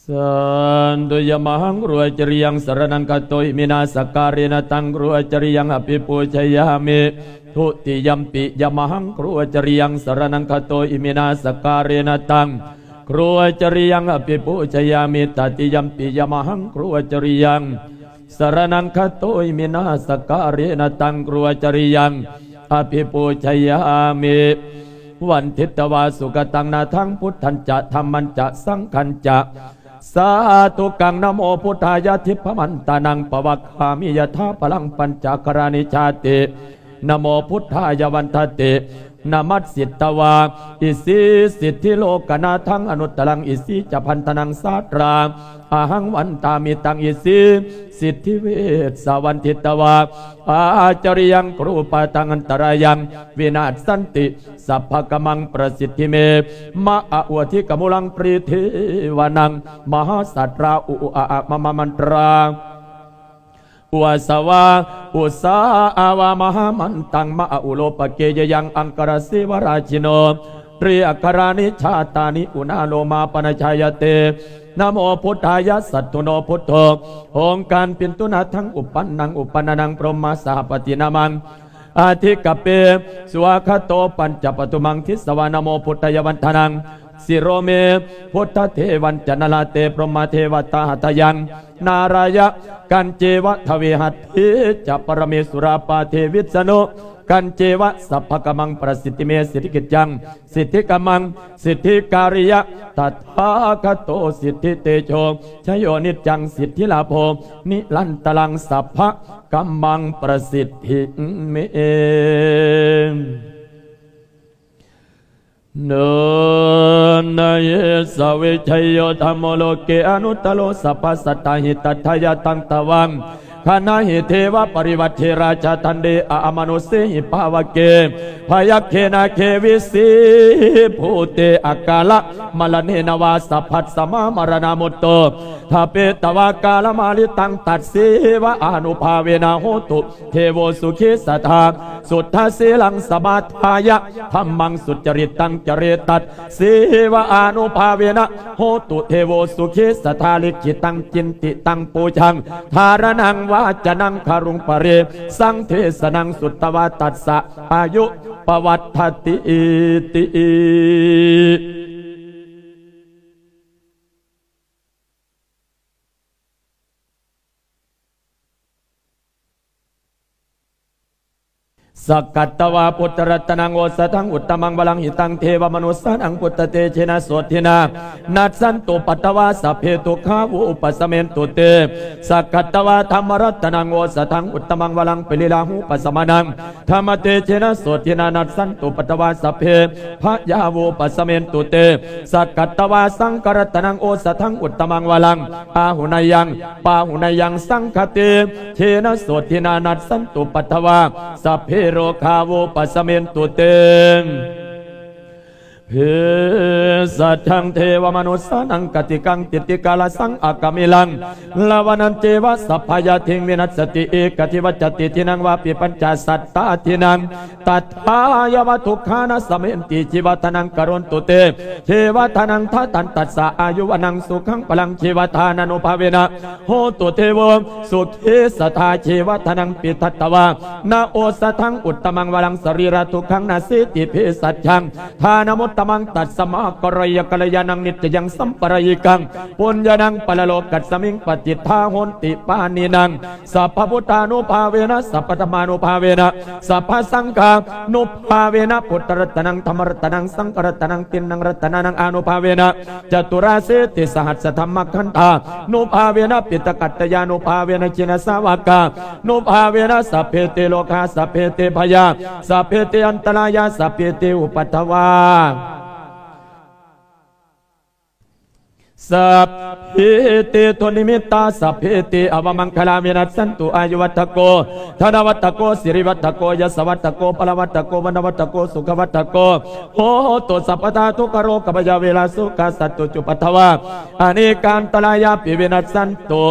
Sandhu yamahaṃ guruacariyaṃ saraṇaṃ gato iminā sakkārena taṃ guruacariyaṃ abhipūjayāmi. Dutiyampi yamahaṃ guruacariyaṃ saraṇaṃ gato iminā sakkārena taṃ guruacariyaṃ abhipūjayāmi. Tatiyampi yamahaṃ guruacariyaṃ saraṇaṃ gato iminā sakkārena taṃ guruacariyaṃ abhipūjayāmi. Vanditvā sugataṃ nāthaṃ buddhañca dhammañca saṅghañca sādhukaṃ. Namo buddhāya, dipamantānaṃ pavakkāmi yathābalaṃ pañcakkharāni jāti. Namo buddhāya, vandati namassitvā isīsiddhilokanāthaṃ anuttaraṃ isīcabandhanaṃ sādrā ahaṃ vandāmi taṃ isīsiddhivessa. Vanditvā ācariyaṃ gurūpadaṃ antarāyaṃ vinassanti sabbakammaṃ prasiddhi me. Ma a u adhikamūlaṃ paridevanānaṃ mahāsātrā u u a a ma ma mantrā u a sa vā u sā a vā mahāmantaṃ. Ma a u lopake yayaṃ aṅkarasīvalajjino triakārāni jātāni unā lomā paṇajāyate. Namo buddhāya, satthu no buddho. ອົງການປິນຕຸນາທັງ ອຸປັນນັງ ອຸປະນານັງ ພຣົມມະສະຫະປະຕິນາມັງ ອະທິກະເປ ສວາຄາໂຕ ປັນຈະປະທຸມັງ ທິສະວາ ນະໂມບຸດທາຍະ ວັນທະນັງ ສິໂຣເມ ບຸດທະເທວັນຈະ ນະລາເຕ ພົມມະເທວະຕາ ຫັດຖະຍັງ ນາລາຍະກັນເຈວະ ທະເວຫັດຖິ ຈະ ປະຣະເມສຸຣາ ປາເທ ວິສະນຸ ກັນເຈວະ ສັບພະກຳມັງ ປະສິດທິເມ ສິດທິກິດຈັງ ສິດທິກຳມັງ ສິດທິກາລິຍະ ຕະຖາຄະໂຕ ສິດທິເຕໂຊ ຊະໂຍ ນິດຈັງ ສິດທິລາໂພ ນິລັນຕະລັງ ສັບພະກຳມັງ ປະສິດທິເມ. ນະເຍ ສະວິຊະໂຍ ທຳໂມ ໂລເກ ອະນຸດຕະໂລ ສັບພະສັດຕາຫິ ຕັດຖາຍະຕັງ ຕະວັງ ຂະນະຫິ ເທວະ ປະລິວັດເທ ຣາຊາ ທັນເດ ອາອາມະນຸດເສຫິ ພາວະເກ ພະຍັກເຂ ນາເຂ ວິສີພູເຕ ອະກາລະມະລະເນນະວາ ສັບພັດສະມາ ມະລະນາມຸດໂຕ ທະເປຕະວາ ກາລະມາລິຕັງ ຕັດເສວະອານຸພາເວນະ ໂຫຕຸ ເທໂວ ສຸເຂ ສະຖາ ສຸດທະສີລັງ ສະມາທາຍະ ທຳມັງ ສຸດຈະລິດຕັງ ຈະເຣຕັດ ເສວະອານຸພາເວນະ ໂຫຕຸ ເທໂວ ສຸເຂ ສະຖາ ລິຂິຕັງ ຈິນຕິຕັງ ປູຊາງ ທາລະນັງ ວາຈະນັງ ຄາລຸງ ປະເຣ ສັງ ເທສະນັງ ສຸດຕະວາ ຕັດສະ ອາຍຸ ປະວັດທະຕິ ຕິ. ສັກກັດຕະວາ ພຸດທະລັດຕະນັງ ໂອສະທັງ ອຸດຕະມັງ ວະລັງ ຫິຕັງ ເທວະມະນຸດສານັງ ພຸດທະເຕຈະເນນະ ໂສທິນາ ນັດສັນຕຸ ປັດຖະວາ ສັບເພ ທຸກຂາ ວູປະສະເມນຕຸ ເຕ ສັກກັດຕະວາ ທຳມະລັດຕະນັງ ໂອສະທັງ ອຸດຕະມັງ ວະລັງ ປະລິລາຫູປະສະມະນັງ ທຳມະເຕຈະເນນະ ໂສທິນາ ນັດສັນຕຸ ປັດຖະວາ ສັບເພ ພະຍາ ວູປະສະເມນຕຸ ເຕ ສັກກັດຕະວາ ສັງຄະລັດຕະນັງ ໂອສະທັງ ອຸດຕະມັງ ວະລັງ ອາຫຸນະຍັງ ປາຫຸນະຍັງ ສັງຄະເຕຈະເນນະ ໂສທິນາ ນັດສັນຕຸ ປັດຖະວາ ສັບເພ ໂລຄາ ວູປະສະເມນຕຸ ເຕ ເພສັດທັງ ເທວະມະນຸດສານັງ ກະຕິກັງ ຕິດຕິກາລະສັງ ອາກາມິລັງ ລາວະນັນເຈວະ ສັບພະຍາທິງ ວິນັດສະຕິ ເອກະທິວັດຈະຕິ ທິນັງ ວາປິ ປັນຈະສັດຕາທິນັງ ຕັດຖາຍະວະ ທຸກຂານະສະເມນຕິ ຊີວະທານັງ ກະໂຣນຕຸ ເຕ ຊີວະທານັງ ທະຕັນ ຕັດສະ ອາຍຸ ວັນນັງ ສຸຂັງ ພະລັງ ຊີວະທານານຸພາເວນະ ໂຫຕຸ ເທໂວ ສຸເຂ ສະຖາ ຊີວະທານັງ ປິທັດຕະວາ ນະໂອສະທັງ ອຸດຕະມັງ ວະລັງ ສະລີຣະທຸກຂັງ ນະສີຕິ ເພສັດຈັງ ທານະມຸດຕະມັງ ຕັດສະມາ ກະຣະຍະ ກະລະຍານັງ ນິດຈະຍັງ ສຳປະລາຍິກັງ ປຸນຍານັງ ປະລະໂລກັດສະມິງ ປະຕິດຖາໂຫນຕິ ປານີນັງ ສັບພະພຸດທານຸພາເວນະ ສັບພະທຳມານຸພາເວນະ ສັບພະສັງຄານຸພາເວນະ ພຸດທະລັດຕະນັງ ທຳມະລັດຕະນັງ ສັງຄະລັດຕະນັງ ຕິນນັງລັດຕະນານັງ ອານຸພາເວນະ ຈະຕຸລາສີຕິສະຫັດສະທຳມະຄັນທານຸພາເວນະ ປິຕະກັດຕະຍານຸພາເວນະ ຈິນນະສາວະການຸພາເວນະ ສັບເພເຕໂລຄາ ສັບເພເຕພະຍາ ສັບເພເຕອັນຕະລາຍາ ສັບເພເຕອຸປັດທະວາ ສັບເພເຕດຸນນິມິດຕາ ສັບເພເຕອະວະມັງຄະລາ ວິນັດສັນຕຸ ອາຍຸວັດທະໂກ ທະນະວັດທະໂກ ສິລິວັດທະໂກ ຢະສະວັດທະໂກ ພະລະວັດທະໂກ ວັນນະວັດທະໂກ ສຸຂະວັດທະໂກ ໂຫຕຸ ສັບພະທາ ທຸກຂະໂລກະພະຍາ ເວລາ ໂສກາ ສັດຕຸ ຈຸປັດທະວາ ອະເນການຕະລາຍາປິ ວິນັດສັນຕຸ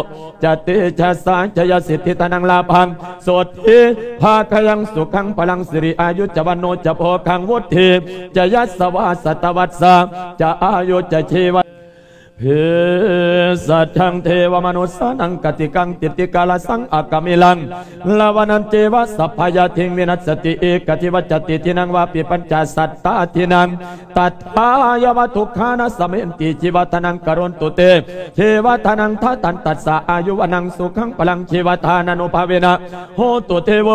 ຈະເຕຈະສາ ຈະຍະສິດທິ ທະນັງ ລາພັງ ໂສດຖີ ພາຄະຍັງ ສຸຂັງ ພະລັງ ສິລິ ອາຍຸ ຈະ ວັນໂນ ຈະ ໂພຄັງ ວຸດຖີ ຈະ ຍັດສະວາ ສັດຕະວັດສາ ຈະ ອາຍຸ ຈະ ຊີວະ ເພສັດທັງ ເທວະມະນຸດສານັງ ກະຕິກັງ ຕິດຕິກາລະສັງ ອາກາມິລັງ ລາວະນັນເຈວະ ສັບພະຍາທິງ ວິນັດສະຕິ ເອກະທິວັດຈະຕິ ທິນັງວາປິ ປັນຈະສັດຕາທິນັງ ຕັດຖາຍະວະ ທຸກຂານະສະເມນຕິ ຊີວະທານັງ ກະໂຣນຕຸເຕ ເທວະທານັງ ທະທັນຕັດສະ ອາຍຸວະນັງ ສຸຂັງ ພະລັງ ຊີວະທານານຸພາເວນະ ໂຫຕຸເທໂວ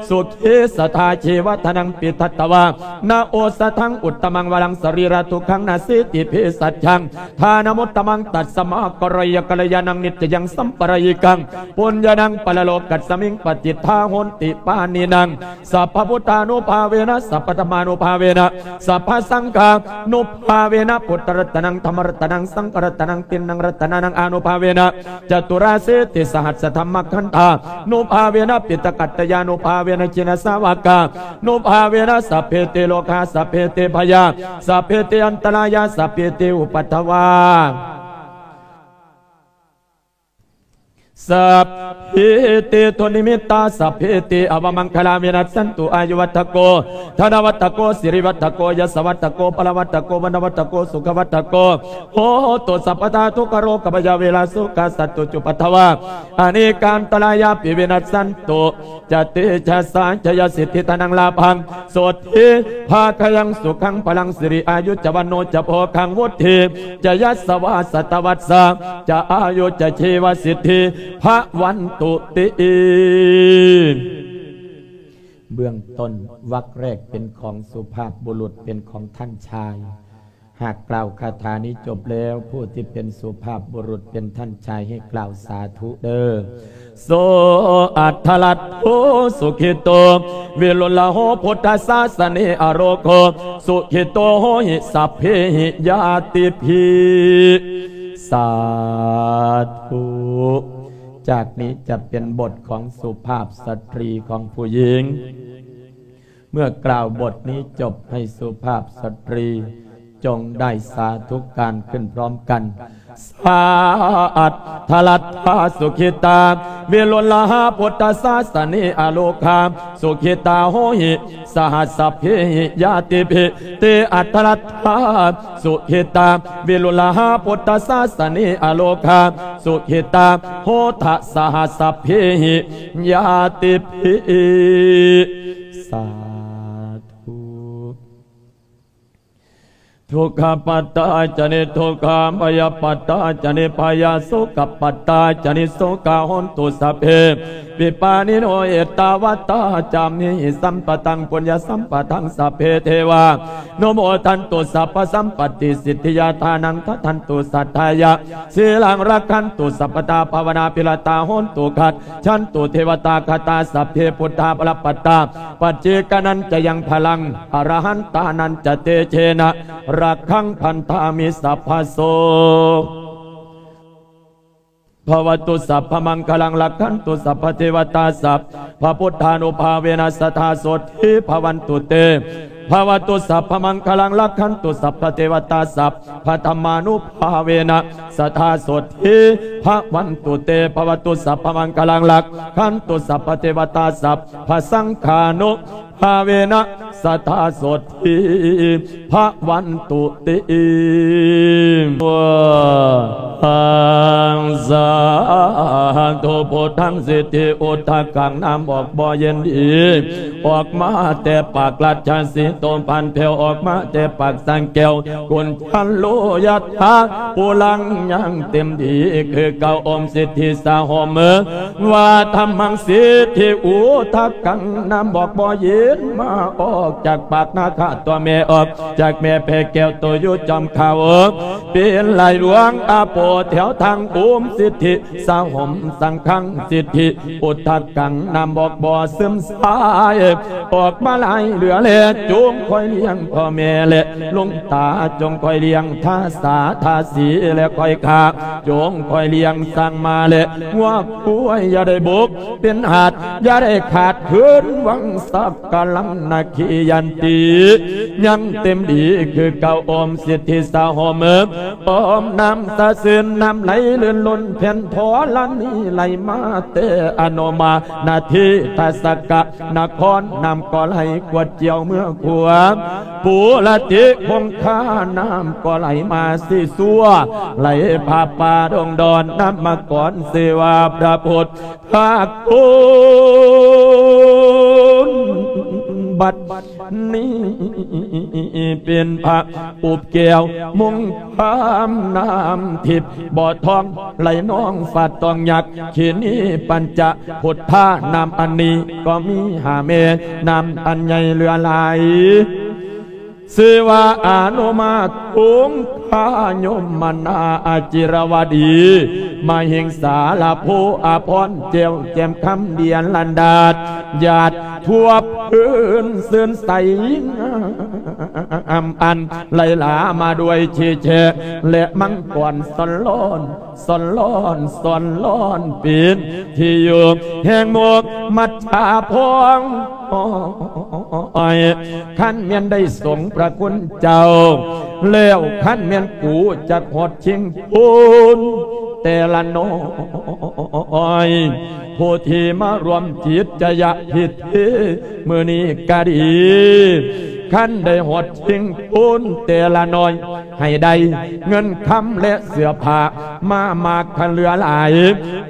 ສຸຂີສະຖາ ຊີວະທານັງ ປິທັດຕະວາ ນະໂອສະທັງ ອຸດຕະມັງ ວະລັງ ສະລີຣະທຸກຂັງ ນະສີຕິ ເພສັດຈັງ ທານະມຸດຕະມັງ ຕັດສະມາ ກະຣະຍະກັນລະຍານັງ ນິດຈະຍັງ ສຳປະຣາຍິກັງ ປຸນຍານັງ ປະລະໂລກັດສະມິງ ປະຕິດຖາ ໂຫນຕິ ປານີນັງ ສັບພະພຸດທານຸພາເວນະ ສັບພະທຳມານຸພາເວນະ ສັບພະສັງຄານຸພາເວນະ ພຸດທະລັດຕະນັງ ທຳມະລັດຕະນັງ ສັງຄະລັດຕະນັງ ຕິນນັງລັດຕະນານັງ ອານຸພາເວນະ ຈະຕຸລາສີຕິສະຫັດສະທຳມະຄັນທານຸພາເວນະ ປິຕະກັດຕະຍານຸພາເວນະ ຈິນນະສາວະການຸພາເວນະ ສັບເພເຕໂລຄາ ສັບເພເຕພະຍາ ສັບເພເຕອັນຕະລາຍາ ສັບເພເຕອຸປັດທະວາ ສັບເພເຕທຸນິມິດຕາ ສັບເພເຕອະວະມັງຄະລາ ວິນັດສັນຕຸ ອາຍຸວັດທະໂກ ທະນະວັດທະໂກ ສິລິວັດທະໂກ ຍະສະວັດທະໂກ ພະລະວັດທະໂກ ວັນນະວັດທະໂກ ສຸຂະວັດທະໂກ ໂຫຕຸສັບພະທາ ທຸກຂະໂລກະພະຍາເວລາໂສກາສັດຕຸຈຸປັດທະວາ ອະເນການຕະລາຍາປິ ວິນັດສັນຕຸ ຈະເຕຈະສາ ຈະຍະສິດທິທະນັງລາພັງ ໂສດຖີພາຄະຍັງ ສຸຂັງພະລັງ ສິລິອາຍຸຈະວັນໂນຈະໂພຄັງ ວຸດຖີຈະຍັດສະວາ ສັດຕະວັດສາ ຈະອາຍຸຈະຊີວະສິດທິພະວັນຕຸຕິ. ເບື້ອງຕົ້ນ ວັກແລກເປັນຂອງສຸພາບບຸລຸດ ເປັນຂອງທ່ານຊາຍ. ຫາກກ່າວຄາຖານີ້ຈົບແລ້ວ ຜູ້ທີ່ເປັນສຸພາບບຸລຸດເປັນທ່ານຊາຍໃຫ້ກ່າວສາທຸເດີ້. ໂສອັດຖະລັດໂທ ສຸຂີໂຕ ວິລຸນລະໂຫ ພຸດທະສາສະເນ ອະໂລໂກ ສຸຂີໂຕໂຫຫິ ສັບເພຫິ ຍາຕິພິ. ສາທຸ. ຈາກນີ້ຈະເປັນບົດຂອງສຸພາບສະຕຣີຂອງຜູ້ຍິງ. ເມື່ອກ່າວບົດນີ້ຈົບ ໃຫ້ສຸພາບສະຕຣີຈົ່ງໄດ້ສາທຸການຂຶ້ນພ້ອມກັນ. ສາອັດຖະລັດຖາ ສຸຂີຕາ ວິລຸນລະຫາ ພຸດທະສາສະເນ ອະໂລຄາ ສຸຂີຕາໂຫຫິ ສະຫັດສັບເພຫິ ຍາຕິພິ ເຕອັດຖະລັດຖາ ສຸຂີຕາ ວິລຸນລະຫາ ພຸດທະສາສະເນ ອະໂລຄາ ສຸຂີຕາ ໂຫທະ ສະຫັດສັບເພຫິ ຍາຕິພິ. ສາທຸ. ທຸກຂະປັດຕາຈະນິທຸກຂາ ພະຍາປັດຕາຈະນິພະຍາ ໂສກະປັດຕາຈະນິໂສກາ ໂຫນຕຸສັບເພ ວິປານິໂນ ເອຕາວັດຕາ ຈາມຫິ ສຳປະຕັງ ປຸນຍະສຳປະທັງ ສັບເພເທວາ ນຸໂມທັນຕຸ ສັບພະສຳປັດຕິສິດທິຍາ ທານັງທະທັນຕຸ ສັດທາຍະ ສີລັງລັກຂັນຕຸ ສັບພະຕາ ພາວະນາພິລະຕາ ໂຫນຕຸ ຄັດສັນຕຸ ເທວະຕາຄະຕາ ສັບເພ ພຸດທາ ພະລະປັດຕາ ປັດເຈກະນັນຈະຍັງ ພະລັງ ອະລະຫັນຕານັນຈະ ເຕເຈນະ ລັກຂັງພັນທາມິ ສັບພະໂສ ພະວະຕຸ ສັບພະມັງຄະລັງ ລັກຂັນຕຸ ສັບພະເທວະຕາ ສັບພະພຸດທານຸພາເວນະ ສະທາໂສດຖີພະວັນຕຸເຕ ພະວະຕຸ ສັບພະມັງຄະລັງ ລັກຂັນຕຸ ສັບພະເທວະຕາ ສັບພະທຳມານຸພາເວນະ ສະທາໂສດຖີພະວັນຕຸເຕ ພະວະຕຸ ສັບພະມັງຄະລັງ ລັກຂັນຕຸ ສັບພະເທວະຕາ ສັບພະສັງຄານຸພາເວນະ ສະທາໂສດຖີພະວັນຕຸຕິ. ສາທຸ. ພຸດທັງສິດທິອຸດທະກັງ ນ້ຳອອກບໍ່ເຢັນດີ ອອກມາແຕ່ປາກລາຊະສີໂຕ ພັນແຜ່ວອອກມາແຕ່ປາກສາງແກ້ວ ກຸນຈັນໂລຍະຖາ ປູລັງຍັງເຕັມດີຄືເກົ່າ ໂອມສິດທິສາໂຫມ ວາທຳມັງສິດທິອຸດທະກັງ ນ້ຳອອກບໍ່ເຢັນມາອອກຈາກປາກນາຄາຕົວແມ່ ອອກຈາກແມ່ແຜ່ແກ້ວໂຕຢູ່ຈອມຂາວ ເປັນລາຍລວງອາໂປແຖວທາງ ໂອມສິດທິສາໂຫມ ສັງຄັງສິດທິ ອຸດທະກັງ ນ້ຳອອກບໍ່ຊຶມຊາຍ ອອກມາຫຼາຍເຫຼືອແລ ຈົ່ງຄອຍລ້ຽງພໍ່ແມ່ແລ ລຸງຕາຈົ່ງຄອຍລ້ຽງ ທາສາທາສີແລ ຄອຍຂ້າຈົ່ງຄອຍລ້ຽງ ຊ້າງມ້າແລ ງົວຄວາຍ ຢ່າໄດ້ບົກເປັນຫາດ ຢ່າໄດ້ຂາດຄືນວັງ ສັກກະລັງນະຄີຍັນຕິ ຍັງເຕັມດີຄືເກົ່າ ໂອມສິດທິສາໂຫມ ໂອມນ້ຳສະຊື່ນ ນ້ຳໄຫຼລື່ນລົ້ນ ແຜ່ນທໍລະນີ ໄຫຼມາແຕ່ອະນຸມານະທີ ທັດສະກະນະຄອນ ນ້ຳກໍໄຫຼກວດກ່ຽວເມືອຂົວ ປູລະຕິຄົງຄາ ນ້ຳກໍໄຫຼມາຊີຊວ ໄຫຼຜ່າປ່າດົງດອນ ນຳມາກ່ອນຊື່ວ່າພະພຸດທະຄຸນ ບັດນີ້ເປັນພະອຸບແກ້ວມຸງຄາມນ້ຳທິບ ບໍ່ທອງໄຫຼນອງຟາດຕອງຍັກ ເຄນີປັນຈະພຸດທາ ນ້ຳອັນນີ້ກໍມີຫ້າແມ່ນ້ຳອັນໃຫຍ່ເຫຼືອຫຼາຍ ຊື່ວ່າອະນຸມາຄົງຄາຍົມມະນາອາຈິລະວະດີ ມະຫິງສາລະໂພອາພອນ ແຈ້ວແຈ່ມຄຳເດຍລັນດາດ ຍາດທົ່ວພື້ນຊື່ນໃສງາມ ອັນໄຫຼຫຼາມາດ້ວຍເຊແຊ ແລະມັງກອນຊ້ອນລ້ອນ ຊ້ອນລ້ອນ ຊ້ອນລ້ອນ ເປັນທີ່ຢູ່ແຫ່ງໝູ່ມັດຈາພອງ ໂອ້ຍ ຄັນແມ່ນໄດ້ສົງພະຄຸນເຈົ້າແລ້ວ ຄັນແມ່ນກູຈັກຮອດຊິງຄູນແຕ່ລະນ້ອຍ ຜູ້ທີ່ມາຮ່ວມຈິດຈະຍະພິທີມື້ນີ້ກະດີ ຄັນໄດ້ຮອດຊິງຄູນແຕ່ລະນ້ອຍ ໃຫ້ໄດ້ເງິນຄຳ ແລະ ເສື້ອຜ້າມາມາກຄັນເຫຼືອຫຼາຍ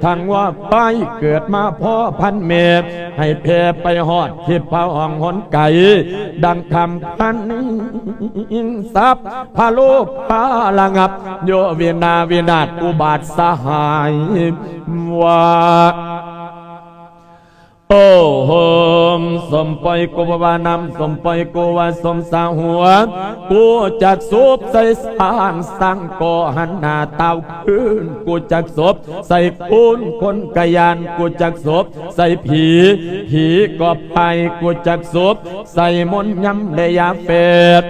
ທັງວ່າໄຟເກີດມາພໍ້ພັນແມ່ ໃຫ້ແຜ່ໄປຮອດທິດຟ້າຫ້ອງຫົນໄກ ດັ່ງຄຳພັນ ສັບພະໂລພາລະງັບ ໂຍວິນາວິນາດອຸບາດສະຫາຍວ່າ ໂອໂຫມ ສົມປ່ອຍກູວ່ານຳ ສົມປ່ອຍກູວ່າສົມສາຫົວ ກູຈັກສວບໃສ່ຊ້າງ ຊ້າງກໍຫັນໜ້າຕ່າວຄືນ ກູຈັກສວບໃສ່ຄົນ ຄົນກະຢ້ານ ກູຈັກສວບໃສ່ຜີ ຜີກໍພາຍ ກູຈັກສວບໃສ່ມົນຍຳ ແລະ ຢາເຟດ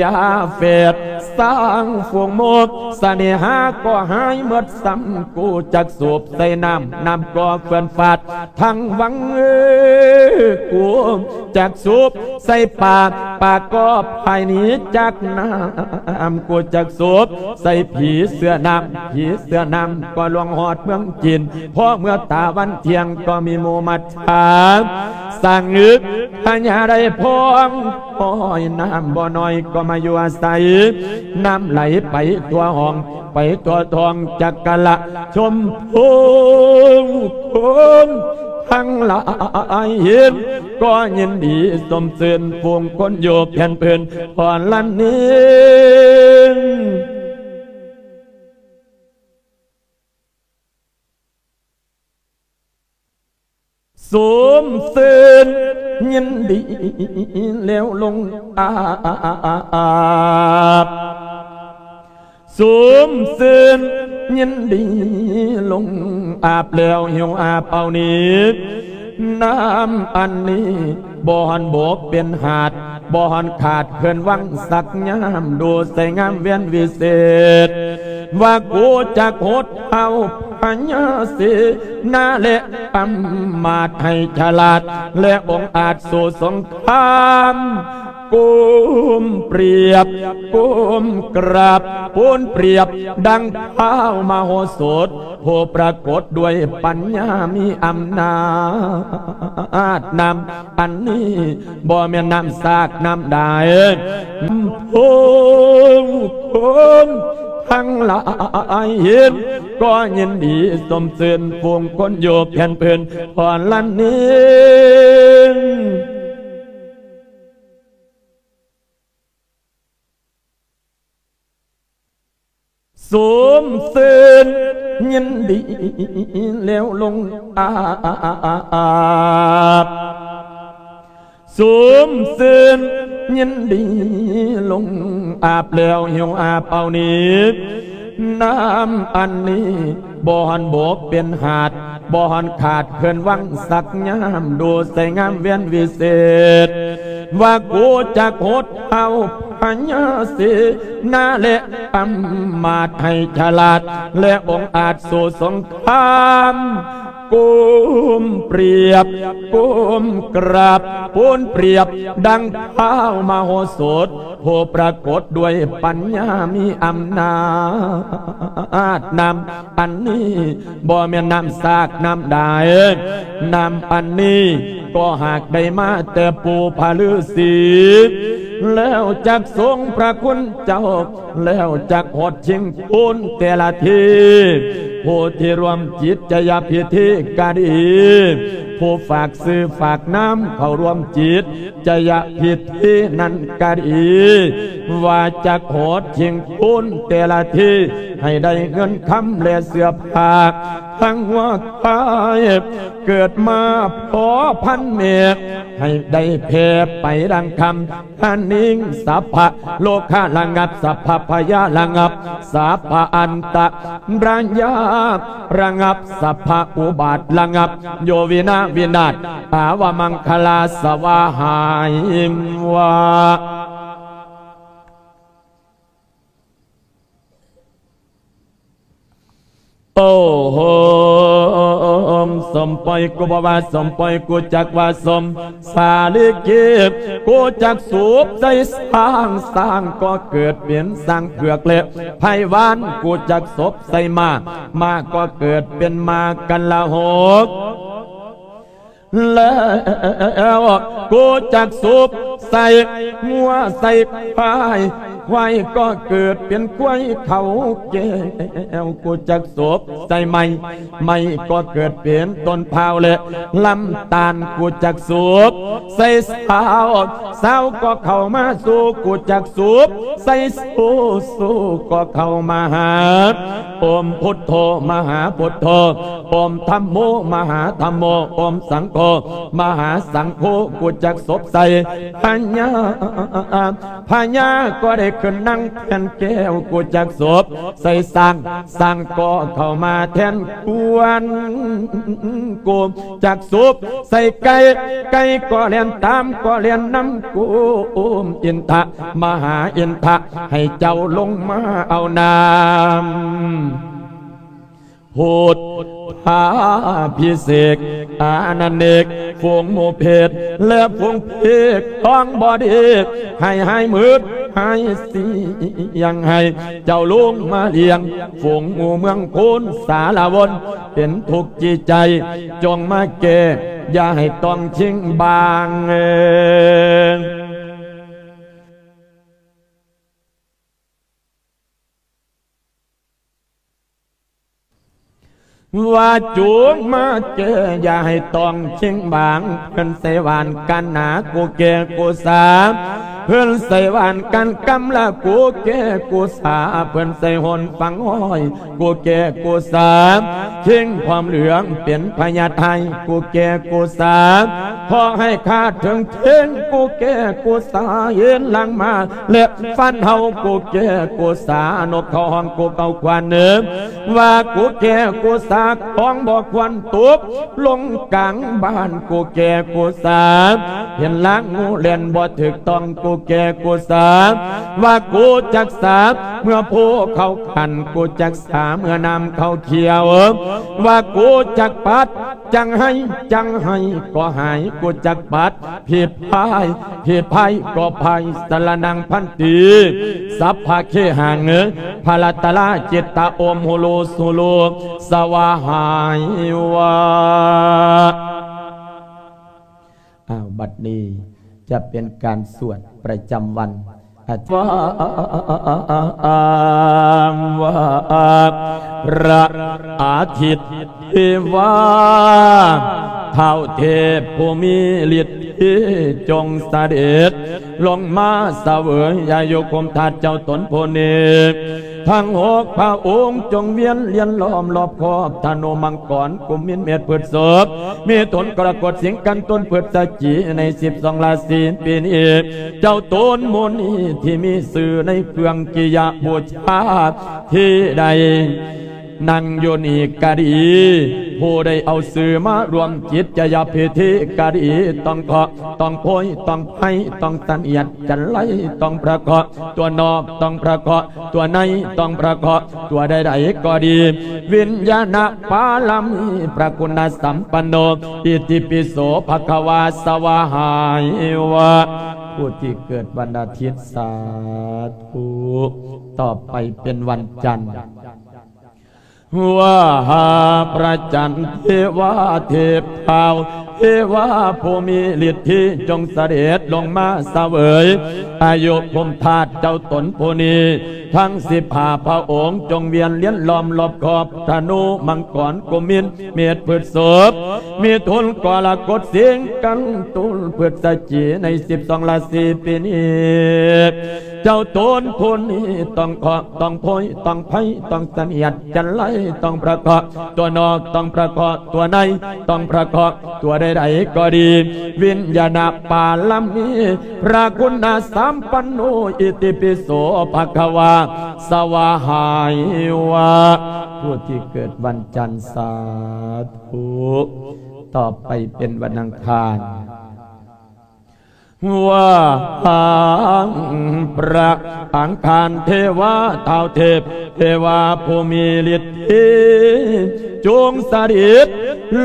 ຢາເຟດ ຊ້າງຝູງໝົດ ສະເໜ່ຫາກໍຫາຍໝົດຊ້ຳ ກູຈັກສວບໃສ່ນ້ຳ ນ້ຳກໍເຟື່ອນຟາດ ທັງວັງ ເອີ ກູຈັກສວບໃສ່ປາ ປາກໍພາຍໜີຈາກນ້ຳ ກູຈັກສວບໃສ່ຜີເສື້ອນ້ຳ ຜີເສື້ອນ້ຳກໍລ່ວງຮອດເມືອງຈີນ ພໍເມື່ອຕາວັນທ່ຽງກໍມີໝູ່ມັດຈາ ສ້າງອຶກພະຍາໄດ້ພອງ ໂອ້ຍ ນ້ຳບໍ່ນ້ອຍກໍມາຢູ່ອາໄສ ນ້ຳໄຫຼໄປທົ່ວຫ້ອງ ໄປທົ່ວທ້ອງຈັກກະລະຊົມພູ ຄົນທັງຫຼາຍເຫັນກໍຍິນດີຊົມຊື່ນ ຝູງຄົນຢູ່ແຜ່ນພື້ນພອນລະເນງ ຊົມຊື່ນຍິນດີແລ້ວລົງອາບ ຊົມຊື່ນຍິນດີລົງອາບແລ້ວຫິວອາບເອົານີ້ ນ້ຳອັນນີ້ບໍ່ຫັ້ນບົກເປັນຫາດ ບໍ່ຫັ້ນຂາດເຂື່ອນວັງສັກຍາມ ດູໃສງາມແວ່ນວິເສດ ວ່າກູຈັກຫົດເອົາພະຍາເສນາ ແລະ ອຳມາດໃຫ້ສະຫຼາດ ແລະ ອົງອາດສູ້ສົງຄາມ ກົ້ມປຽບ ກົ້ມກາບ ໂພນປຽບ ດັ່ງທ້າວມະໂຫສົດ ຜູ້ປາກົດດ້ວຍປັນຍາມີອຳນາດນຳ ອັນນີ້ບໍ່ແມ່ນນ້ຳສາກນ້ຳໃດ ຜູ້ຄົນທັງຫຼາຍເຫັນກໍຍິນດີຊົມຊື່ນ ຝູງຄົນຢູ່ແຜ່ນພື້ນພອນລະເນງ ຊົມຊື່ນຍິນດີແລ້ວລົງອາບ ຊົມຊື່ນຍິນດີລົງອາບແລ້ວຫິວອາບເອົານີ້ ນ້ຳອັນນີ້ ບໍ່ຫັ້ນບົກເປັນຫາດ ບໍ່ຫັ້ນຂາດເຂື່ອນວັງສັກຍາມ ດູໃສງາມແວ່ນວິເສດ ວ່າກູຈັກຫົດເອົາພະຍາເສນາ ແລະ ອຳມາດໃຫ້ສະຫຼາດ ແລະ ອົງອາດສູ້ສົງຄາມ ກົ້ມປຽບ ກົ້ມກາບ ປູນປຽບ ດັ່ງທ້າວມະໂຫສົດ ຜູ້ປາກົດດ້ວຍປັນຍາມີອຳນາດ. ນ້ຳອັນນີ້ບໍ່ແມ່ນນ້ຳສາກນ້ຳໃດ, ນ້ຳອັນນີ້ກໍຫາກໄດ້ມາແຕ່ປູ່ພະລືສີ ແລ້ວຈັກຊົງພະຄຸນເຈົ້າ ແລ້ວຈັກຮອດຊິງຄູນແຕ່ລະທີ. ຜູ້ທີ່ຮ່ວມຈິດຈະຍະພິທີກະດີ, ຜູ້ຝາກຊື່ຝາກນາມເຂົ້າຮ່ວມຈິດຈະຍະພິທີນັ້ນກະດີ, ວ່າຈັກຮອດຊິງຄູນແຕ່ລະທີ ໃຫ້ໄດ້ເງິນຄຳແລະເສື້ອຜ້າທັງຫົວກາຍ, ເກີດມາພໍພັນແມ່ ໃຫ້ໄດ້ແຜ່ໄປດັ່ງຄຳ ທະນິງ ສັບພະໂລຄະລະງັບ ສັບພະພະຍາລະງັບ ສັບພະອັນຕະລາຍາລະງັບ ສັບພະອຸບາດລະງັບ ໂຍວິນາວິນາດ ອາວະມັງຄະລາສະວາຫາຍວາ. ໂອ້ໂຫ ສົມປ່ອຍກູບໍ່ວ່າສົມ ປ່ອຍກູຈັກວ່າສົມ ສາລີກີ ກູຈັກສູບໃສ່ຊ້າງ ຊ້າງກໍເກີດເປັນຊ້າງເຜືອກ ແລະໄພວານ ກູຈັກສົບໃສ່ມ້າ ມ້າກໍເກີດເປັນມ້າກັນລະຫົກ. ແລ້ວກູຈັກສູບໃສ່ງົວໃສ່ຄວາຍ ຄວາຍກໍເກີດເປັນຄວາຍເຂົາແກ້ວ ກູຈັກສູບໃສ່ໄມ້ ໄມ້ກໍເກີດເປັນຕົ້ນພ້າວ ແລະລຳຕານ ກູຈັກສູບໃສ່ຊາວ ຊາວກໍເຂົ້າມາສູ່ ກູຈັກສູບໃສ່ຊູ ຊູກໍເຂົ້າມາຫາ ໂອມພຸດໂທ ມະຫາພຸດໂທ ໂອມທັມໂມ ມະຫາທັມໂມ ໂອມສັງໂຄ ມະຫາສັງໂຄ ກູຈັກສົບໃສ່ພະຍາ ພະຍາກໍໄດ້ຂຶ້ນນັ່ງແທ່ນແກ້ວ ກູຈັກສົບໃສ່ຊ້າງ ຊ້າງກໍເຂົ້າມາແທ່ນຄວນ ກູຈັກສູບໃສ່ໄກ່ ໄກ່ກໍແລ່ນຕາມ ກໍແລ່ນນຳ ກູໂອມອິນທະ ມະຫາອິນທະ ໃຫ້ເຈົ້າລົງມາເອົານ້ຳ ພຸດທາພິເສກ ອານັນເນກ ຝູງໝູ່ເພດ ແລະຝູງເພກ ທອງບໍດີ ໃຫ້ຫາຍມືດ ຫາຍສຽງ ໃຫ້ເຈົ້າລົງມາລ້ຽງ ຝູງໝູ່ເມືອງໂຄນສາລະວົນ ເປັນທຸກຈິດໃຈ ຈົ່ງມາແກ້ ຢ່າໃຫ້ຕ້ອງຊິງບາງ. ວ່າຈົ່ງມາແກ້ ຢ່າໃຫ້ຕ້ອງຊິງບາງ ເພິ່ນໃສ່ຫວ່ານກັນໜາ ກູແກ້ກູສາ ເພິ່ນໃສ່ຫວ່ານກັນກຳລະ ກູແກ້ກູສາ ເພິ່ນໃສ່ຫົນຝັງຫ້ອຍ ກູແກ້ກູສາ ເຄງຄວາມເຫຼືອງເປັນພະຍາໄທ ກູແກ້ກູສາ ຂໍໃຫ້ຂ້າເຖິງເຄງ ກູແກ້ກູສາ ເຫັນຫຼັງມາ ແລະຟັນເຮົາ ກູແກ້ກູສາ ນົກເຂົາຮ້ອງ ກູເກົາຄວັນເນີ ວ່າກູແກ້ກູສາ ຂອງບໍ່ຄວນຕົກລົງກາງບ້ານ ກູແກ້ກູສາ ເຫັນລາງງູແລ່ນບໍ່ຖືກຕ້ອງ ກູແກ້ກູສາ ວ່າກູຈັກສາ ເມື່ອໂພເຂົາຂັນ ກູຈັກສາ ເມື່ອນ້ຳເຂົາຂຽວ ວ່າກູຈັກປັດ ຈັ່ງໃຫ້ ຈັ່ງໃຫ້ກໍຫາຍ ກູຈັກປັດ ພິພາຍ ພິພາຍກໍພາຍ ສະລະນັງພັນຕິ ສັບພະເຄຫັງ ພະລັດຕະລາຈິດຕະ ໂອມໂຮໂລໂຊໂລ ສະວາຫາຍວາ. ອ້າວ ບັດນີ້ຈະເປັນການສວດປະຈຳວັນ ອາທິ ວາ ພະອາທິດເທວາ ທ້າວເທບຜູ້ມີລິດທີ່ ຈົ່ງສະເດັດລົງມາສະເຫວີຍ ຢ່າຢູ່ຄຸມທາດເຈົ້າຕົນຜູ້ນີ້ ທັງຫົກພະອົງ ຈົ່ງວຽນລຽນລ້ອມລອບຂອບທະນູມັງກອນ ກຸມມິນ ເມດ ພຶດສະພ ມິຖຸນ ກໍລະກົດ ສິງ ກັນ ຕຸນ ພຶດສະຈິກ ໃນສິບສອງລາສີປີນີ້ ເຈົ້າຕົນໝູ່ນີ້ທີ່ມີຊື່ໃນເຟືອງກິຍະບູຊາ ທີ່ໄດ້ນັ່ງຢູ່ນີ້ກະດີ ຜູ້ໃດເອົາຊື່ມາຮ່ວມກິດຈະຍາພິທີກໍດີ ຕ້ອງເຄາະ ຕ້ອງໂພຍ ຕ້ອງໄພ ຕ້ອງສະຫຽດຈັນໄລ ຕ້ອງປະເຄາະ ຕົວນອກ ຕ້ອງປະເຄາະ ຕົວໃນ ຕ້ອງປະເຄາະ ຕົວໃດໆກໍດີ ວິນຍານະປາລະມີ ພະຄຸນນະສຳປັນໂນ ອິຕິປິໂສ ພະຄະວາ ສະວາຫາຍວະ ຜູ້ທີ່ເກີດວັນອາທິດ ສາທຸ ຕໍ່ໄປເປັນວັນຈັນ ວາຫາພະຈັນ ເທວາເທບທ້າວ ເທວາຜູ້ມີລິດທີ ຈົ່ງສະເດັດລົງມາສະເຫວີຍອາຍຸພູມທາດເຈົ້າຕົນຜູ້ນີ້ ທັງສິບຫ້າພະອົງ ຈົ່ງວຽນລຽນລ້ອມລອບຂອບ ທະນູ ມັງກອນ ກຸມມິນ ເມດ ພຶດສົບ ມິຖຸນ ກໍລະກົດ ສິງ ກັນ ຕຸນ ພຶດສະຈິ ໃນສິບສອງລາສີປີນີ້ ເຈົ້າຕົນຜູ້ນີ້ຕ້ອງເຄາະ ຕ້ອງໂພຍ ຕ້ອງໄພ ຕ້ອງສະຫຽດຈັນໄລ ຕ້ອງປະເຄາະ ຕົວນອກ ຕ້ອງປະເຄາະ ຕົວໃນ ຕ້ອງປະເຄາະ ຕົວໃດໆກໍດີ ວິນຍານະປາລະມີ ພະຄຸນນະສຳປັນໂນ ອິຕິປິໂສ ພະຄະວາ ສະວາຫາຍວະ ຜູ້ທີ່ເກີດວັນຈັນ ສາທຸ ຕໍ່ໄປເປັນວັນອັງຄານ ວາຫັງ ພະອັງຄານ ເທວາທ້າວເທບ ເທວາຜູ້ມີລິດທີ ຈົ່ງສະເດັດ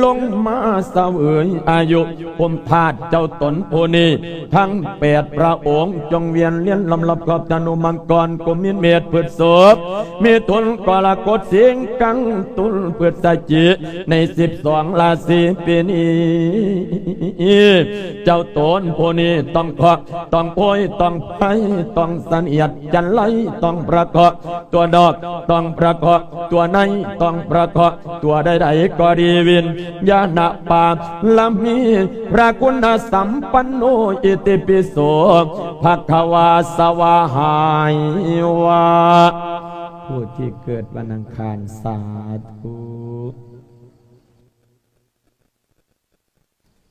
ລົງມາສະເຫວີຍອາຍຸພູມທາດເຈົ້າຕົນຜູ້ນີ້ ທັງແປດພະອົງ ຈົ່ງວຽນລຽນລ້ອມລອບຂອບ ທະນູ ມັງກອນ ກຸມມິນ ເມດ ພຶດສົບ ມິຖຸນ ກໍລະກົດ ສິງ ກັນ ຕຸນ ພຶດສະຈິ ໃນສິບສອງລາສີປີນີ້ ເຈົ້າຕົນຜູ້ນີ້ຕ້ອງເຄາະ ຕ້ອງໂພຍ ຕ້ອງໄພ ຕ້ອງສະຫຽດຈັນໄລ ຕ້ອງປະເຄາະ ຕົວນອກ ຕ້ອງປະເຄາະ ຕົວໃນ ຕ້ອງປະເຄາະ ຕົວໃດໆກໍດີ ວິນຍານະປາລະມີ ພະຄຸນນະສຳປັນໂນ ອິຕິປິໂສ ພະຄະວາ ສະວາຫາຍວະ ຜູ້ທີ່ເກີດວັນອັງຄານ ສາທຸ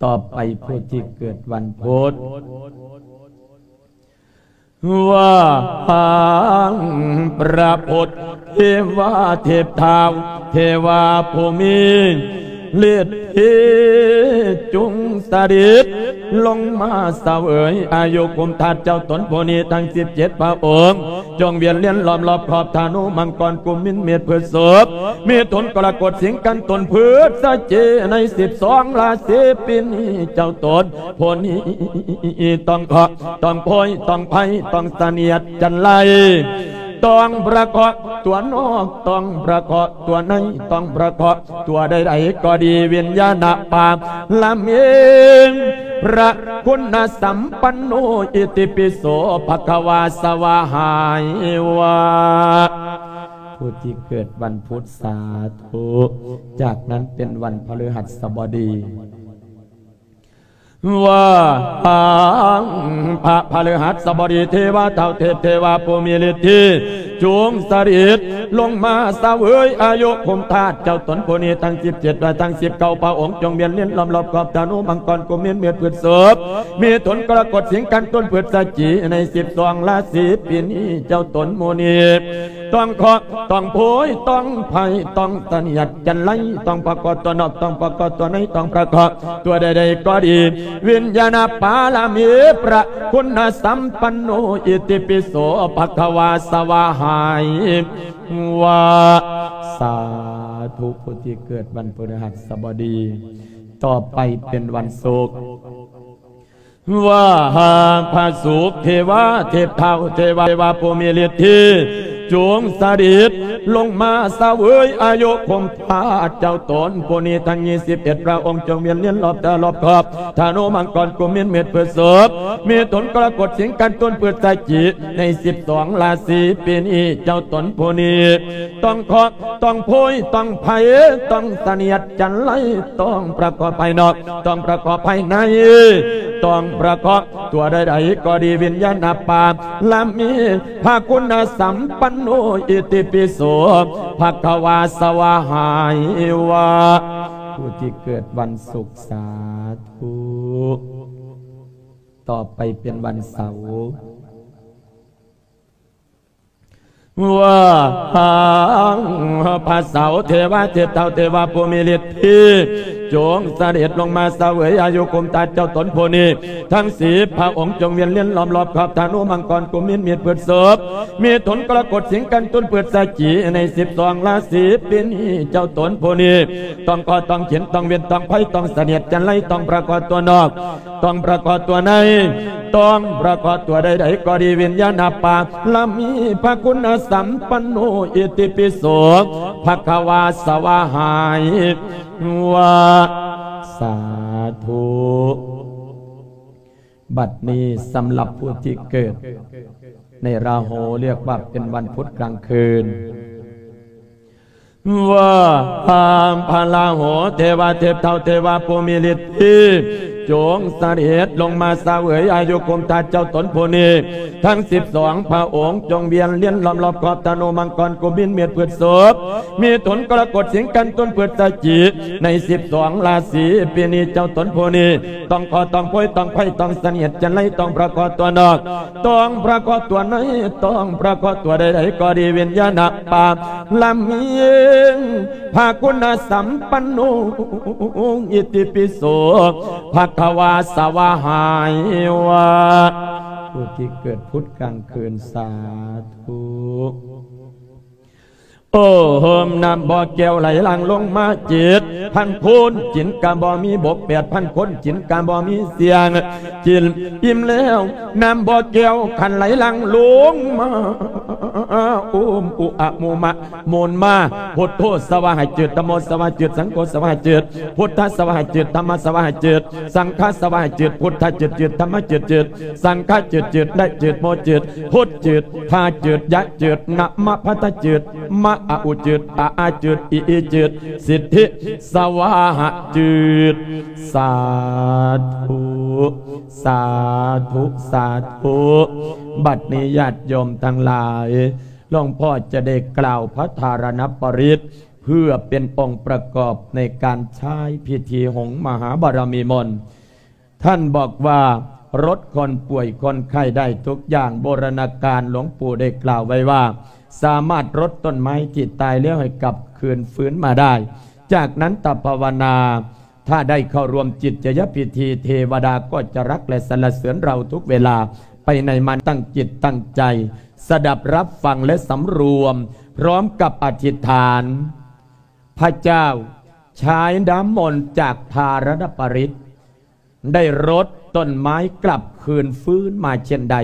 ຕໍ່ໄປຜູ້ທີ່ເກີດວັນພຸດ ວາຫັງ ພະພຸດ ເທວາເທບທ້າວ ເທວາຜູ້ມີລິດທີ ຈົ່ງສະເດັດລົງມາສະເຫວີຍອາຍຸພູມທາດເຈົ້າຕົນຜູ້ນີ້ ທັງສິບເຈັດພະອົງ ຈົ່ງວຽນລຽນລ້ອມລອບຂອບ ທະນູ ມັງກອນ ກຸມມິນ ເມດ ພຶດສົບ ມິຖຸນ ກໍລະກົດ ສິງ ກັນ ຕຸນ ພຶດສະຈິ ໃນສິບສອງລາສີປີນີ້ ເຈົ້າຕົນຜູ້ນີ້ຕ້ອງເຄາະ ຕ້ອງໂພຍ ຕ້ອງໄພ ຕ້ອງສະຫຽດຈັນໄລ ຕ້ອງປະເຄາະ ຕົວນອກ ຕ້ອງປະເຄາະ ຕົວໃນ ຕ້ອງປະເຄາະ ຕົວໃດໆກໍດີ ວິນຍານະປາລະມີ ພະຄຸນນະສຳປັນໂນ ອິຕິປິໂສ ພະຄະວາ ສະວາຫາຍວະ ຜູ້ທີ່ເກີດວັນພຸດ ສາທຸ ຈາກນັ້ນເປັນວັນພະພຶຫັດສະບໍດີ ວາຫັງ ພະພະພຶຫັດສະບໍດີ ເທວາທ້າວເທບ ເທວາຜູ້ມີລິດທີ ຈົ່ງສະເດັດລົງມາສະເຫວີຍອາຍຸພູມທາດເຈົ້າຕົນຜູ້ນີ້ ທັງສິບເຈັດ ແລະ ທັງສິບເກົ້າພະອົງ ຈົ່ງວຽນລຽນລ້ອມລອບຂອບ ທະນູ ມັງກອນ ກຸມມິນ ເມດ ພຶດສົບ ມິຖຸນ ກໍລະກົດ ສິງ ກັນ ຕຸນ ພຶດສະຈິ ໃນສິບສອງລາສີປີນີ້ ເຈົ້າຕົນໝູ່ນີ້ ຕ້ອງເຄາະ ຕ້ອງໂພຍ ຕ້ອງໄພ ຕ້ອງສະຫຽດຈັນໄລ ຕ້ອງປະເຄາະ ຕົວນອກ ຕ້ອງປະເຄາະ ຕົວໃນ ຕ້ອງປະເຄາະ ຕົວໃດໆກໍດີ ວິນຍານະປາລະມີ ພະຄຸນນະສຳປັນໂນ ອິຕິປິໂສ ພະຄະວາ ສະວາຫາຍວະ ສາທຸ ຜູ້ທີ່ເກີດວັນພຶຫັດສະບໍດີ ຕໍ່ໄປເປັນວັນສຸກ ວາຫາພະສຸກ ເທວາເທບທ້າວ ເທວາ ເທວາຜູ້ມີລິດທີ ຈົ່ງສະເດັດລົງມາສະເຫວີຍອາຍຸຄົງພາດເຈົ້າຕົນຜູ້ນີ້ ທັງຊາວເອັດພະອົງ ຈົ່ງວຽນລຽນລອບຕາລອບຂອບ ທະນູ ມັງກອນ ກຸມມິນ ເມັດ ພຶດສົບ ມິຖຸນ ກໍລະກົດ ສິງ ກັນ ຕຸນ ພຶດສະຈິ ໃນສິບສອງລາສີປີນີ້ ເຈົ້າຕົນຜູ້ນີ້ ຕ້ອງເຄາະ ຕ້ອງໂພຍ ຕ້ອງໄພ ຕ້ອງສະເໜຽດຈັນໄລ ຕ້ອງປະກອບພາຍນອກ ຕ້ອງປະກອບພາຍໃນ ຕ້ອງປະກອບຕົວໃດໆກໍດີ ວິນຍານະປາລະມີ ພະຄຸນນະສຳປັນໂນ ອິຕິປິໂສ ພະຄະວາ ສະວາຫາຍວະ ຜູ້ທີ່ເກີດວັນສຸກ ສາທຸ ຕໍ່ໄປເປັນວັນເສົາ. ວ່າ ພະເສົາເທວາເທບເທົ້າເທວາຜູ້ມີລິດທີ ຈົ່ງສະເດັດລົງມາສະເຫວີຍອາຍຸກຸມຕາເຈົ້າຕົນຜູ້ນີ້ ທັງສິບພະອົງ ຈົ່ງວຽນລຽນລ້ອມລອບຂອບທະນູມັງກອນ ກຸມມິນ ມີດ ພຶດສົບ ມິຖຸນ ກໍລະກົດ ສິງ ກັນ ຕຸນ ພຶດສະຈິກ ໃນສິບສອງລາສີປີນີ້ ເຈົ້າຕົນຜູ້ນີ້ ຕ້ອງເຄາະ ຕ້ອງເຂັນ ຕ້ອງເວນ ຕ້ອງໄພ ຕ້ອງສະເໜດ ຈັນໄລ ຕ້ອງປະເຄາະຕົວນອກ ຕ້ອງປະເຄາະຕົວໃນ ຕ້ອງປະເຄາະຕົວໃດໆກໍດີ ວິນຍານະປາລະມີ ພະຄຸນນະສຳປັນໂນ ອິຕິປິໂສ ພະຄະວາ ສະວາຫາຍ ວ່າ ສາທຸ. ບັດນີ້ສຳລັບຜູ້ທີ່ເກີດໃນລາຫູ ຮຽກວ່າເປັນວັນພຸດກາງຄືນ ວ່າ ພະລາຫູເທວາເທບເທົ້າເທວາຜູ້ມີລິດທີ ຈົ່ງສະເດັດລົງມາສະເຫວີຍອາຍຸກຸມຕາເຈົ້າຕົນຜູ້ນີ້ ທັງສິບສອງພະອົງ ຈົ່ງວຽນລຽນລ້ອມລອບຂອບທະນູມັງກອນ ກຸມມິນ ມີດ ພຶດສົບ ມິຖຸນ ກໍລະກົດ ສິງ ກັນ ຕຸນ ພຶດສະຈິກ ໃນສິບສອງລາສີປີນີ້ ເຈົ້າຕົນຜູ້ນີ້ ຕ້ອງເຄາະ ຕ້ອງໂພຍ ຕ້ອງໄພ ຕ້ອງສະເໜດ ຈັນໄລ ຕ້ອງປະເຄາະຕົວນອກ ຕ້ອງປະເຄາະຕົວໃນ ຕ້ອງປະເຄາະຕົວໃດໆກໍດີ ວິນຍານະປາລະມີ ພະຄຸນນະສຳປັນໂນ ອິຕິປິໂສ ພະຄະວາ ສະວາຫາຍ ວ່າ ຜູ້ທີ່ເກີດພຸດກາງຄືນ ສາທຸ. ໂອ້ໂຫມ ນ້ຳບໍ່ແກ້ວໄຫຼຫຼັ່ງລົງມາເຈັດພັນໂຄນ ກິນກະບໍ່ມີບົກ ແປດພັນຄົນກິນກະບໍ່ມີສ່ຽງ ກິນອີ່ມແລ້ວ ນ້ຳບໍ່ແກ້ວຄັນໄຫຼຫຼັ່ງລົງມາ ໂອມ ອຸອະ ໂມມະ ໂມນມາ ພຸດໂທ ສະວາຫາຍ ຈືດ ທຳໂມ ສະວາຫາຍ ຈືດ ສັງໂຄ ສະວາຫາຍ ຈືດ ພຸດທະ ສະວາຫາຍ ຈືດ ທຳມະ ສະວາຫາຍ ຈືດ ສັງຄະ ສະວາຫາຍ ຈືດ ພຸດທະ ຈືດ ຈືດ ທຳມະ ຈືດ ຈືດ ສັງຄະ ຈືດ ຈືດ ນະ ຈືດ ໂມ ຈືດ ພຸດ ຈືດ ພາ ຈືດ ຍະ ຈືດ ນະ ມະ ພັດທະ ຈືດ ມະ ອະ ອຸ ຈືດ ອະ ອາ ຈືດ ອີ ອີ ຈືດ ສິດທິ ສະວາຫະ ຈືດ ສາທຸ ສາທຸ ສາທຸ. ບັດນີ້ຍາດໂຍມທັງຫຼາຍ ຫຼວງພໍ່ຈະໄດ້ກ່າວພະທາລະນະປະລິດ ເພື່ອເປັນອົງປະກອບໃນການໃຊ້ພິທີຫົງມະຫາບາລະມີມົນ. ທ່ານບອກວ່າ ລົດຄົນປ່ວຍຄົນໄຂ້ໄດ້ທຸກຢ່າງ. ບູລະນາການຫຼວງปู่ໄດ້ກ່າວໄວ້ວ່າ ສາມາດລົດຕົ້ນໄມ້ທີ່ຕາຍແລ້ວໃຫ້ກັບຄືນຟື້ນມາໄດ້. ຈາກນັ້ນຕະພາວະນາ ຖ້າໄດ້ເຂົ້າຮ່ວມຈິດຈະຍະພິທີ ເທວະດາກໍຈະຮັກ ແລະ ສັນລະເສີນເຮົາທຸກເວລາ. ໄປໃນມານຕັ້ງຈິດຕັ້ງໃຈ ສະດັບຮັບຟັງ ແລະ ສຳລວມ ພ້ອມກັບອະທິດຖານ ພະເຈົ້າ ຊາຍນ້ຳມົນຈາກທາລະນະປະລິດ ໄດ້ລົດຕົ້ນໄມ້ກັບຄືນຟື້ນມາເຊັ່ນໃດ,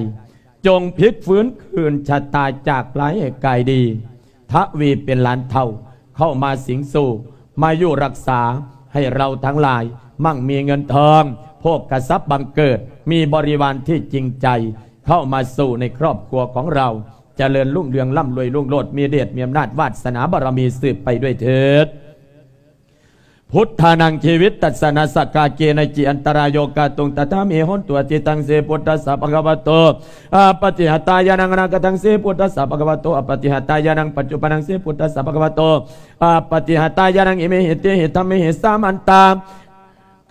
ຈົ່ງພລິກຟື້ນຄືນຊະຕາຈາກຮ້າຍໃຫ້ກາຍດີ, ທະວີເປັນລ້ານເທົ່າ, ເຂົ້າມາສິງສູ່, ມາຢູ່ຮັກສາໃຫ້ເຮົາທັງຫຼາຍ ໝັ່ງມີເງິນທອງ, ໂພກະຊັບບັງເກີດ, ມີບໍລິວານທີ່ຈິງໃຈ ເຂົ້າມາສູ່ໃນຄອບຄົວຂອງເຮົາ, ຈະເລີນຮຸ່ງເຮືອງ ລ່ຳລວຍລຸງໂລດ, ມີເດດມີອຳນາດ ວາດສະໜາບາລະມີສືບໄປດ້ວຍເທີດ. ພຸດທານັງ ຈີວິດຕັດສະ ນາສະກາເກນະ ຈິ ອັນຕະລາໂຍກາຕຸງ ຕະຖາມິ ໂຫນຕຸ ອະະຕິຕັງ ເສ ພຸດທັດສະ ພະຄະວະໂຕ ອະປະຕິຫະຕາຍານັງ ອະນາຄະຕັງ ເສ ພຸດທັດສະ ພະຄະວະໂຕ ອະປະຕິຫະຕາຍານັງ ປັດຈຸບັນນັງ ເສ ພຸດທັດສະ ພະຄະວະໂຕ ອະປະຕິຫະຕາຍານັງ ອິເມຫິ ເຕຫິ ທຳເມຫິ ສາມັນຕາ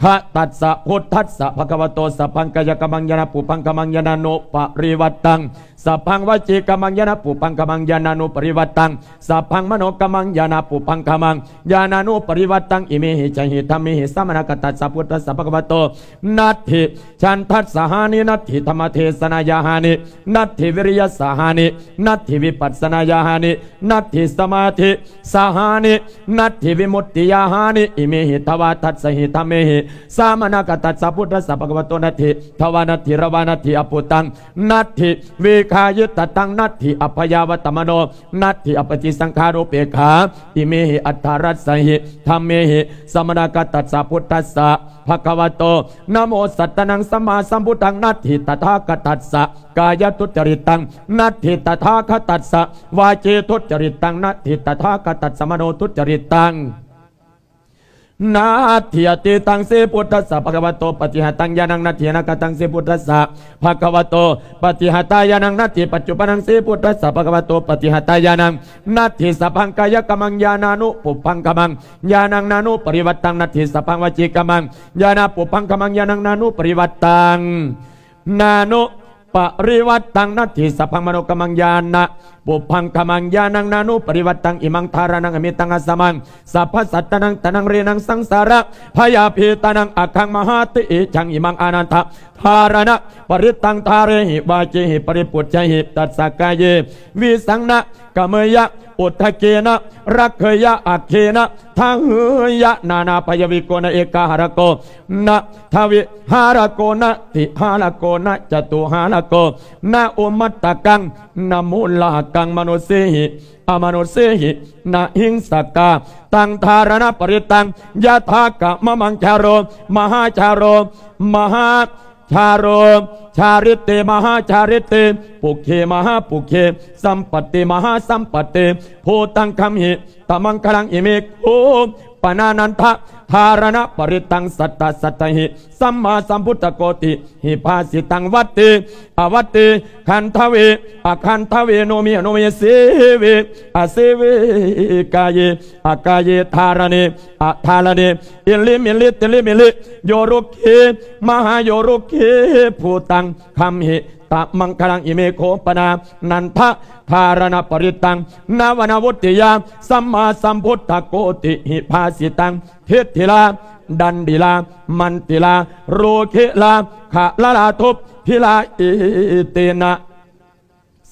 ຄະຕັດສະ ພຸດທັດສະ ພະຄະວະໂຕ ສັບພັງກາຍະກຳມັງ ຍານະປຸພັງຄະມັງ ຍານານຸປະລິວັດຕັງ ສັບພັງວະຈີກຳມັງ ຍານະປຸພັງຄະມັງ ຍານານຸປະລິວັດຕັງ ສັບພັງມະໂນກຳມັງ ຍານະປຸພັງຄະມັງ ຍານານຸປະລິວັດຕັງ ອິເມຫິ ຈະຫິ ທຳເມຫິ ສາມະນາຄະຕັດສະ ພຸດທັດສະ ພະຄະວະໂຕ ນັດຖິ ສັນທັດສະຫານິ ນັດຖິ ທຳມະເທສະນາຍາຫານິ ນັດຖິ ວິລິຍະສະຫານິ ນັດຖິ ວິປັດສະນາຍາຫານິ ນັດຖິ ສະມາທິສະຫານິ ນັດຖິ ວິມຸດຕິຍາຫານິ ອິເມຫິ ທະວາທັດສະຫິ ທຳເມຫິ ສາມະນາຄະຕັດສະ ພຸດທັດສະ ພະຄະວະໂຕ ນັດຖິ ທະວານັດຖິ ຣະວານັດຖິ ອະປຸຕັງ ນັດຖິ ວິຄາຍຸຕະຕັງ ນັດຖິ ອະພະຍາວັດຕະມະໂນ ນັດຖິ ອະປະຕິສັງຂານຸເປກຂາ ອິເມຫິ ອັດຖະຣັດສະຫິ ທຳເມຫິ ສາມະນາຄະຕັດສະ ພຸດທັດສະ ພະຄະວະໂຕ ນະໂມສັດຕານັງ ສຳມາສຳພຸດທັງ ນັດຖິ ຕະຖາຄະຕັດສະ ກາຍະທຸດຈະລິດຕັງ ນັດຖິ ຕະຖາຄະຕັດສະ ວາຈີທຸດຈະລິດຕັງ ນັດຖິ ຕະຖາຄະຕັດສະ ມະໂນທຸດຈະລິດຕັງ ນັດຖິ ອະະຕິຕັງ ເສ ພຸດທັດສະ ພະຄະວະໂຕ ປະຕິຫະຕັງ ຍານັງ ນັດຖິ ອະນາຄະຕັງ ເສ ພຸດທັດສະ ພະຄະວະໂຕ ປະຕິຫະຕາຍານັງ ນັດຖິ ປັດຈຸບັນນັງ ເສ ພຸດທັດສະ ພະຄະວະໂຕ ປະຕິຫະຕາຍານັງ ນັດຖິ ສັບພັງກາຍະກຳມັງ ຍານານຸປຸພັງຄະມັງ ຍານັງນານຸປະລິວັດຕັງ ນັດຖິ ສັບພັງວະຈີກຳມັງ ຍານາປຸພັງຄະມັງ ຍານັງນານຸປະລິວັດຕັງ ນານຸ ປະລິວັດຕັງ ນັດຖິ ສັບພັງ ມະໂນກຳມັງ ຍານະ ປຸບພັງຄະມັງ ຍານັງ ນານຸປະລິວັດຕັງ ອິມັງ ທາຣະນັງ ອະມິຕັງ ອາສະມັງ ສັບພະສັດຕານັງ ຕານັງ ເຣນັງ ສັງສາຣະ ພະຍາພີຕານັງ ອະຄັງ ມະຫາຕິອິດຖະທັງ ອິມັງ ອານັນທະ ທາຣະນະປະລິຕັງ ທາເຣຫິ ວາຈີຫິ ປະລິປຸດຈະຫິ ຕັດສະກາເຍ ວິສັງນະ ກະເມຍະ ອຸດທະເກນະ ລັກເຂຍະ ອັກເຂນະ ທະເຫຍະ ນານາພະຍະວິໂກນະ ເອກາຫາລະໂກ ນະ ທະວິຫາລະໂກ ນະ ຕິຫາລະໂກ ນະ ຈະຕຸຫາລະໂກ ນະ ອຸມະຕະກັງ ນະ ມູນລະຫະກັງ ມະນຸເສຫິ ອະມະນຸເສຫິ ນະ ຫິງສະກາຕັງ ທາຣະນະປະລິຕັງ ຍະຖາກະມະມັງ ຈາໂຣ ມະຫາຈາໂຣ ມະຫາ ຈາໂຣ ຈາລິເຕ ມະຫາຈາລິເຕ ປຸກເຂ ມະຫາປຸກເຂ ສຳປັດຕິ ມະຫາສຳປັດຕິ ພູຕັງຄຳຫິ ຕະມັງຄະລັງ ອິເມ ໂຄ ປະນານັນທະ ທາຣະນະປະລິຕັງ ສັດຕະສັດຕະຫິ ສຳມາສຳພຸດທະໂກຕິຫິ ພາສິຕັງ ວັດຕິ ອະວັດຕິ ຄັນທະເວ ອະຄັນທະເວ ໂນມິ ອະໂນມິ ເສເວ ອະເສເວ ກາເຍ ອະກາເຍ ທາຣະເນ ອະທາຣະເນ ອິລິມິລິ ຕິລິມິລິ ໂຍລຸກເຂ ມະຫາໂຍລຸກເຂ ພູຕັງຄຳຫິ ຕະມັງຄະລັງ ອິເມ ໂຄ ປະນານັນທະ ທາຣະນະປະລິຕັງ ນະວະນະວຸດຕິຍາ ສຳມາສຳພຸດທະໂກຕິຫິ ພາສິຕັງ ທິດທິລາ ດັນດິລາ ມັນຕິລາ ໂຣເຄລາ ຄະລະລາ ທຸບພິລາ ເອເຕນະ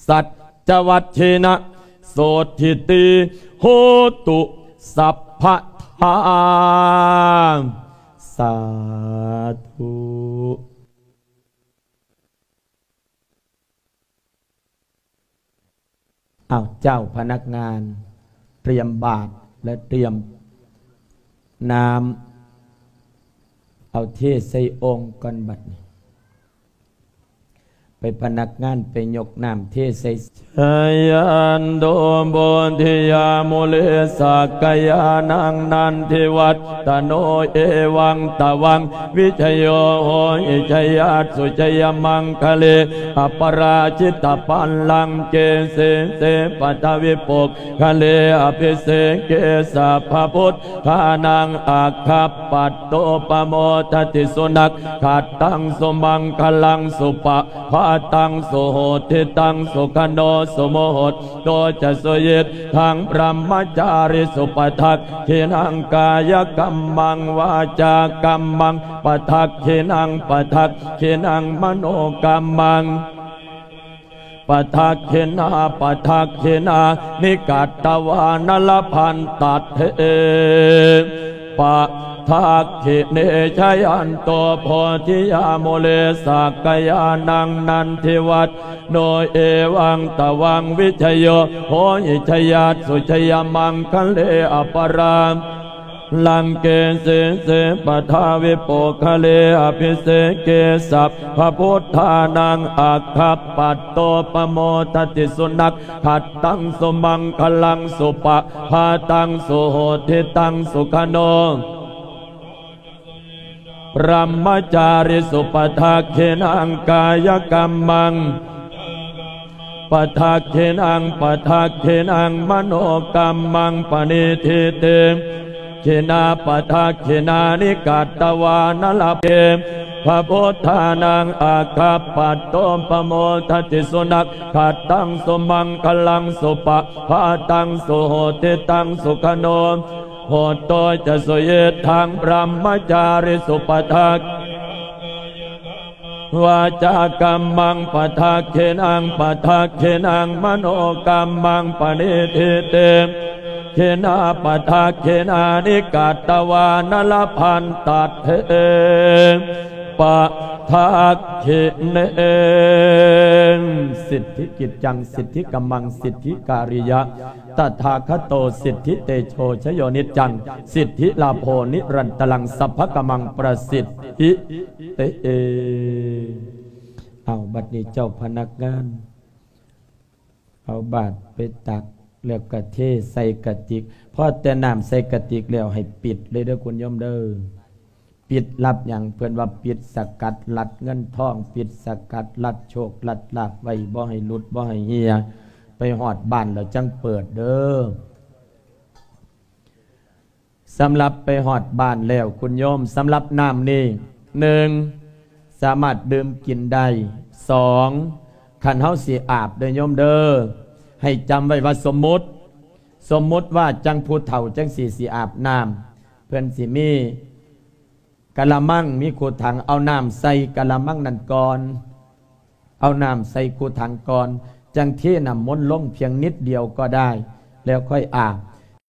ສັດຈະວັດເທນະ ໂສທິຕິ ໂຫຕຸ ສັບພະທາ ສາທຸ. ອ້າວ ເຈົ້າພະນັກງານ ຕຽມບາດ ແລະ ຕຽມນ້ຳ ເອົາເທໃສ່ໂອ່ງກ່ອນບັດນີ້. ໄປພະນັກງານໄປຍົກນ້ຳເທໃສ່. ຈາຍັນໂຕໂພທິຍາມູເລສັກກະຍານັງນັນທິວັດຕະໂນ ເອວັງຕະວັງ ວິຊະໂຍໂຫຫິ ຈະຍັດສຸ ຈະຍະມັງຄະເລ ອະປະລາຈິດຕະບັນລັງເກ ສີເສ ປະທະວິປຸກຄະເລ ອະພິເສເກ ສັບພະພຸດທານັງ ອາຄັບປັດໂຕ ປະໂມທະຕິ ສຸນັກຂັດຕັງ ສຸມັງຄະລັງ ສຸປະພາຕັງ ສຸໂຫທິຕັງ ສຸຂະໂນ ສຸມຸໂຫດໂຕຈະ ສຸຍິດທັງ ບຣະມະຈາຣິສຸ ປະທັກຂິນັງ ກາຍະກັມມັງ ວາຈາກັມມັງ ປະທັກຂິນັງ ປະທັກຂິນັງ ມະໂນກັມມັງ ປະທັກຂິນາ ປະທັກຂິນານິ ກັດຕະວານະລະພັນຕັດເທ ປະທັກຂິເນ ຈາຍັນໂຕໂພທິຍາມູເລສັກກະຍານັງນັນທິວັດໂນ ເອວັງຕະວັງ ວິຊະໂຍໂຫຫິ ຈະຍັດສຸ ຈະຍະມັງຄະເລ ອະປະລາ ລັງເກ ສີເສ ປະທາວິປຸກຄະເລ ອະພິເສເກ ສັບພະພຸດທານັງ ອາຄັບປັດໂຕ ປະໂມທະຕິ ສຸນັກຂັດຕັງ ສຸມັງຄະລັງ ສຸປະພາຕັງ ສຸໂຫທິຕັງ ສຸຂະໂນ ບຣະມະຈາຣິສຸ ປະທັກຂິນັງ ກາຍະກັມມັງ ປະທັກຂິນັງ ປະທັກຂິນັງ ມະໂນກັມມັງ ປະນິທິຕິ ຂິນາ ປະທັກຂິນານິ ກັດຕະວານະລະເພ ພະພຸດທານັງ ອາຄັບປັດໂຕ ປະໂມທະຕິ ສຸນັກຂັດຕັງ ສຸມັງຄະລັງ ສຸປະພາຕັງ ສຸໂຫຕິຕັງ ສຸຂະໂນ ໂຫດໂຕຈະ ສຸຍິດທັງ ບຣະມະຈາຣິສຸ ປະທັກ ວາຈາກັມມັງ ປະທັກຂິນັງ ປະທັກຂິນັງ ມະໂນກັມມັງ ປະນິທິຕິ ຂິນາ ປະທັກຂິນານິ ກັດຕະວານະລະພັນຕັດເທ ປະທັກຂິເນ ສິດທິກິດຈັງ ສິດທິກັມມັງ ສິດທິກາລິຍະ ຕະຖາຄະໂຕ ສິດທິເຕໂຊ ຊະໂຍນິດຈັງ ສິດທິລາໂພ ນິລັນຕະລັງ ສັບພະກະມັງ ປະສິດ ເອ ເອ ເອົາ ບັດນີ້ເຈົ້າພະນັກງານ ເອົາບາດໄປຕັກ ແລ້ວກະເທໃສ່ກະຕິກ. ພໍແຕ່ນ້ຳໃສ່ກະຕິກແລ້ວ ໃຫ້ປິດເລີຍເດີຄຸນໂຍມເດີ. ປິດລັບຫຍັງ? ເພິ່ນວ່າປິດສະກັດລັດເງິນທອງ, ປິດສະກັດລັດໂຊກລັດລາບໄວ້ ບໍ່ໃຫ້ຫຼຸດ ບໍ່ໃຫ້ເຮ່ຍ. ໄປຮອດບ້ານແລ້ວຈັ່ງເປີດເດີ. ສຳລັບໄປຮອດບ້ານແລ້ວ ຄຸນໂຍມ, ສຳລັບນ້ຳນີ້ ໜຶ່ງ ສາມາດດື່ມກິນໄດ້, ສອງ ຄັນເຮົາຊິອາບເດີໂຍມເດີ ໃຫ້ຈຳໄວ້ວ່າສົມມຸດ ສົມມຸດວ່າຈັ່ງຜູ້ເຖົ້າຈັ່ງຊີ້ຊິອາບນ້ຳ ເພິ່ນຊິມີກະລະມັງ ມີຄຸຖັງ ເອົານ້ຳໃສ່ກະລະມັງນັ້ນກ່ອນ ເອົານ້ຳໃສ່ຄຸຖັງກ່ອນ ຈັ່ງເທນ້ຳມົນລົງພຽງນິດດຽວກໍໄດ້ ແລ້ວຄ່ອຍອາບ.